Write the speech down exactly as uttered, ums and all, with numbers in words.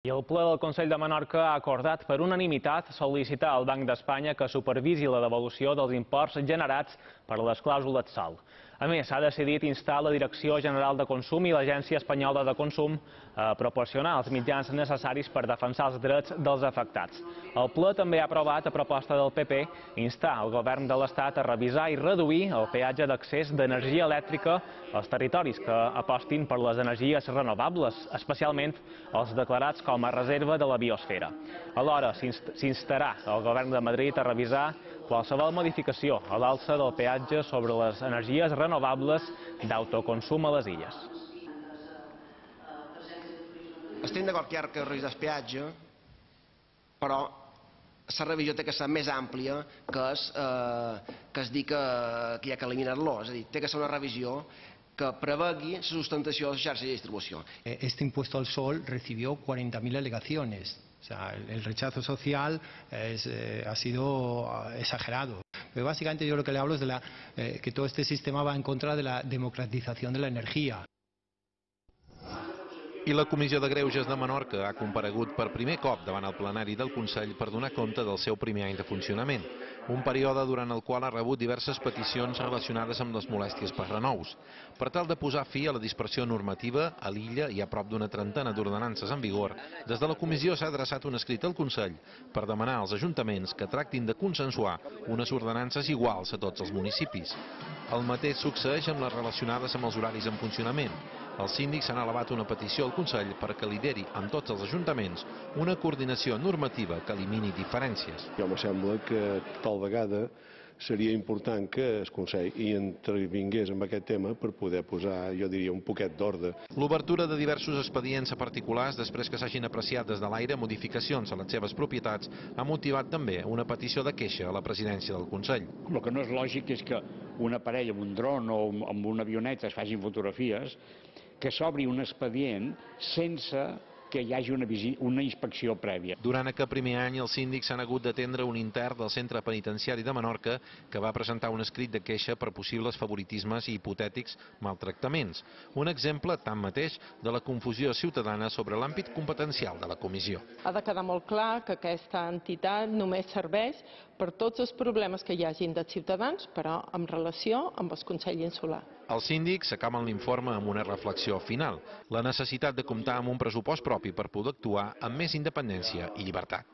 I el ple del Consell de Menorca ha acordat per unanimitat sol·licitar al Banc d'Espanya que supervisi la devolució dels imports generats per les clàusules sòl. A més, s'ha decidit instar la Direcció General de Consum i l'Agència Espanyola de Consum a proporcionar els mitjans necessaris per defensar els drets dels afectats. El ple també ha aprovat, a proposta del P P, instar el Govern de l'Estat a revisar i reduir el peatge d'accés d'energia elèctrica als territoris que apostin per les energies renovables, especialment els declarats com a reserva de la biosfera. Alhora, s'instarà el Govern de Madrid a revisar qualsevol modificació a l'alça del peatge sobre les energies renovables d'autoconsum a les illes. Estem d'acord que hi ha que revisar el peatge, però la revisió té que ser més àmplia que es, eh, que es dir que, que hi ha que eliminar-lo. És a dir, té que ser una revisió que prevegui la sustentació de la xarxa de distribució. Este impuesto al sol recibió cuarenta mil alegaciones. O sea, el, el rechazo social es, eh, ha sido exagerado. Pero básicamente yo lo que le hablo es de la, eh, que todo este sistema va en contra de la democratización de la energía. I la Comissió de Greuges de Menorca ha comparegut per primer cop davant el plenari del Consell per donar compte del seu primer any de funcionament, un període durant el qual ha rebut diverses peticions relacionades amb les molèsties per renous. Per tal de posar fi a la dispersió normativa, a l'illa hi ha prop d'una trentena d'ordenances en vigor. Des de la Comissió s'ha adreçat un escrit al Consell per demanar als ajuntaments que tractin de consensuar unes ordenances iguals a tots els municipis. El mateix succeeix amb les relacionades amb els horaris en funcionament. Els síndics han elevat una petició al Consell perquè lideri amb tots els ajuntaments una coordinació normativa que elimini diferències. Jo em sembla que tal vegada seria important que el Consell hi intervingués en aquest tema per poder posar, jo diria, un poquet d'ordre. L'obertura de diversos expedients a particulars després que s'hagin apreciat des de l'aire modificacions a les seves propietats ha motivat també una petició de queixa a la presidència del Consell. El que no és lògic és que un aparell amb un dron o amb una avioneta es facin fotografies, que s'obri un expedient sense que hi hagi una, una inspecció prèvia. Durant aquest primer any, els síndics s'han hagut d'atendre un intern del Centre Penitenciari de Menorca que va presentar un escrit de queixa per possibles favoritismes i hipotètics maltractaments. Un exemple, tanmateix, de la confusió ciutadana sobre l'àmbit competencial de la comissió. Ha de quedar molt clar que aquesta entitat només serveix per tots els problemes que hi hagin dels ciutadans, però en relació amb el Consell Insular. Els síndics acaben l'informe amb una reflexió final, la necessitat de comptar amb un pressupost propi per poder actuar amb més independència i llibertat.